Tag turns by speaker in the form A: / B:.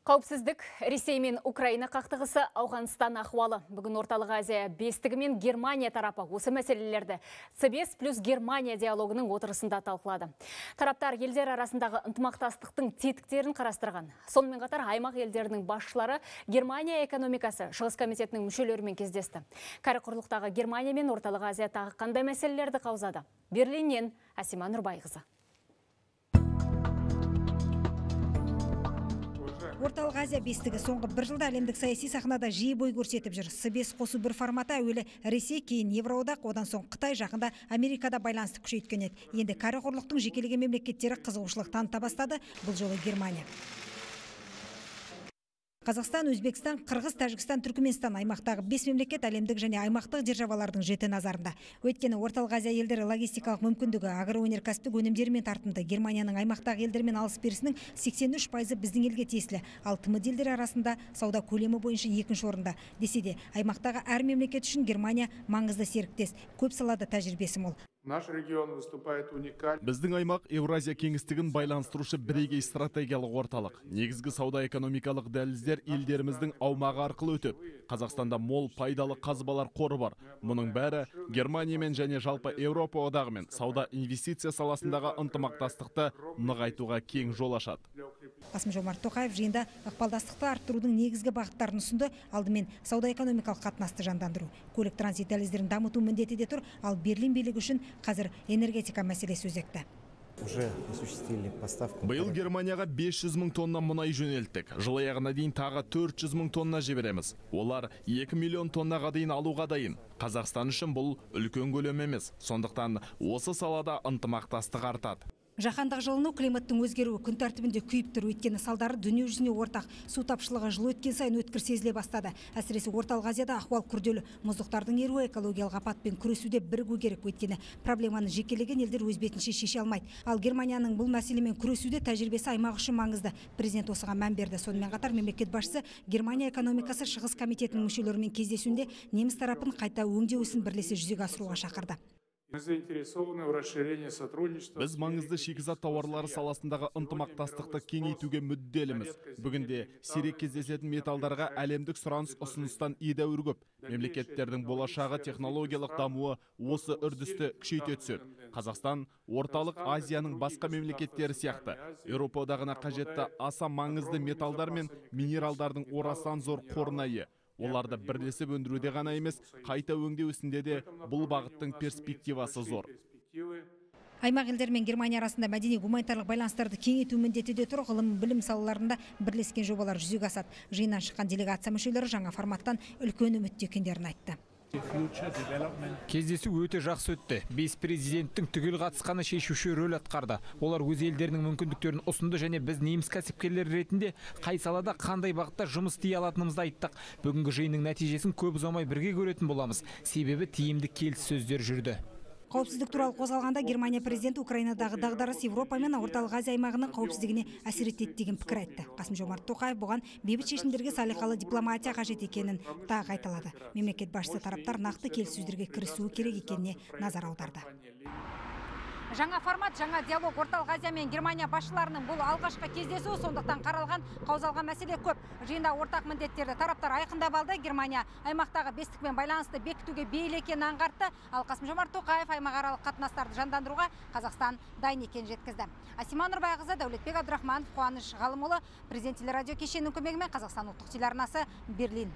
A: Қауіпсіздік, Ресей мен Украина қақтығысы, Ауғанстан ахуалы. Бүгін Орталық Азия бестігі мен Германия тарапы осы мәселелерді С5 плюс Германия диалогының отырысында талқылады. Тараптар елдер арасындағы ынтымақтастықтың тетіктерін қарастырған. Сонымен қатар аймақ елдерінің басшылары Германия экономикасы Шығыс комитетінің мүшелерімен кездесті. Кәрі құрлықтағы Германия мен Орталық Азиядағы қандай мәселелерді қаузады? Берлиннен Асима Нұрбайқызы.
B: Орталық Азия бестігі соңғы бір жылда әлемдік саяси сахнада жиі бой көрсетіп жүр. С5 қосу бір форматы әуелі Ресей, кейін Евроодақ, одан соң Қытай, жақында Америкада байланысты күшейткен еді. Енді кәрі құрлықтың жекелеген мемлекеттері қызығушылық таныта бастады, бұл жолы Германия. Қазақстан, Өзбекстан, Қырғыз, Тәжікстан, Түркменстан аймақтағы 5 мемлекет әлемдік және аймақтық державалардың жіті назарында. Өйткені Орталық Азия елдері логистикалық мүмкіндігі, агроөнеркәсіптік өнімдермен тартымды. Германияның аймақтағы елдермен алыс-берісінің 83% біздің елге тиесілі. Ал тмд елдері арасында сауда көлемі бойынша екінші орында. Десе де, аймақтағы әр мемлекет үшін Германия маңызды серіктес. Көп салада тәжірибесі мол.
C: Наш регион выступает уникально.
D: Біздің аймақ Евразия кеңістігін байланыстырушы бірегей стратегиялық орталық. Негізгі сауда-экономикалық дәліздер елдеріміздің аумағы арқылы өтіп, Қазақстанда мол пайдалы қазбалар қоры бар. Мұның бәрі Германиямен және жалпы Еуропа одағымен сауда инвестиция саласындағы ынтымақтастықты нығайтуға кең жол ашады.
B: Қасым-Жомарт Тоқаев жиында ықпалдастықты арттырудың негізгі бағыттарын ұсынды. Алдымен сауда-экономикалық қатынасты жандандыру, көлік транзит дәліздерін дамыту міндеті де тұр, ал Берлин билігі үшін қазір энергетика мәселесі өзекті.
D: Биыл Германияға 500 мың тонна мұнай жөнелттік. Жыл аяғына дейін тағы 400 мың тонна жібереміз. Олар 2 миллион тоннаға дейін алуға дайын. Қазақстан үшін бұл үлкен көлем емес. Сондықтан осы салада ынтымақтастық артады.
B: Жаһандық жылыну, климаттың өзгеруі күн тәртібінде күйіп тұр. Өйткені салдары дүние жүзіне ортақ. Су тапшылығы жыл өткен сайын өткір сезіле бастады. Әсіресе Орталық Азияда ахуал күрделі. Мұздықтардың еруі экологиялық апатпен күресуде бірігу керек. Өйткені проблеманы жекелеген елдер өз бетінше шеше алмайды. Ал Германияның бұл мәселемен күресуде тәжірибесі аймақ үшін маңызды. Президент осыған мән берді. Сонымен қатар мемлекет басшысы Германия экономикасы Шығыс комитетінің мүшелерімен кездесуінде неміс тарапын қайта өңдеу ісін бірлесе жүзеге асыруға шақырды.
D: Біз маңызды шикізат тауарлары саласындағы ынтымақтастықты кеңейтуге мүдделіміз. Бүгінде сирек кездесетін металдарға әлемдік сұраныс ұсыныстан едәуір көп. Мемлекеттердің болашағы технологиялық дамуы осы үрдісті күшейте түседі. Қазақстан Орталық Азияның басқа мемлекеттері сияқты Еуропа одағына қажетті аса маңызды металдар мен минералдардың орасан зор қорына ие. Оларды бірлесіп өндіруде ғана емес, қайта өңдеу ісінде де бұл бағыттың перспективасы зор.
B: Аймақ елдер мен Германия арасында мәдени гуманитарлық байланыстарды кеңейту міндеті де тұр. Ғылым, білім салаларында бірлескен жобалар жүзеге асады. Жиыннан шыққан делегация мүшелері жаңа форматтан үлкен үмітте екендерін айтты.
E: Кездесу өте жақсы өтті. 5 президенттің түгел қатысқаны шешуші рөл атқарды. Олар өз елдерінің мүмкіндіктерін ұсынды және біз неміс кәсіпкерлер ретінде қай салада қандай бағытта жұмыс істей алатынымызды айттық. Бүгінгі жиынның нәтижесін көп ұзамай бірге көретін боламыз. Себебі тиімді келіссөздер жүрді.
B: Қауіпсіздік туралы қозғалғанда Германия президенті Украинадағы дағдарыс Европа мен Орталық Азия аймағының қауіпсіздігіне әсер етеді деген пікір айтты. Қасым-Жомарт Тоқаев бұған бейбіт шешімдерге салиқалы дипломатия қажет екенін тағы қайталады. Мемлекет басшысы тараптар нақты келіссөздерге кірісуі керек екеніне назар аударды. Жаңа формат, жаңа диалог Орталық Азия мен Германия басшыларының бұл алғашқы кездесу, сондықтан қаралған, қаузалған мәселе көп. Жиында ортақ міндеттерді тараптар айқындап алды. Германия аймақтағы бестікпен байланысты бекітуге бейіл екенін аңғартты. Ал Қасым-Жомарт Тоқаев аймақаралық қатынастарды жандандыруға Қазақстан дайын екенін жеткізді. Асима Нұрбайқызы, Дәулетбек Абдрахманов, Қуаныш Ғалымұлы, Президент телерадио кешенінің көмегімен Қазақстан ұлттық телеарнасы, Берлин.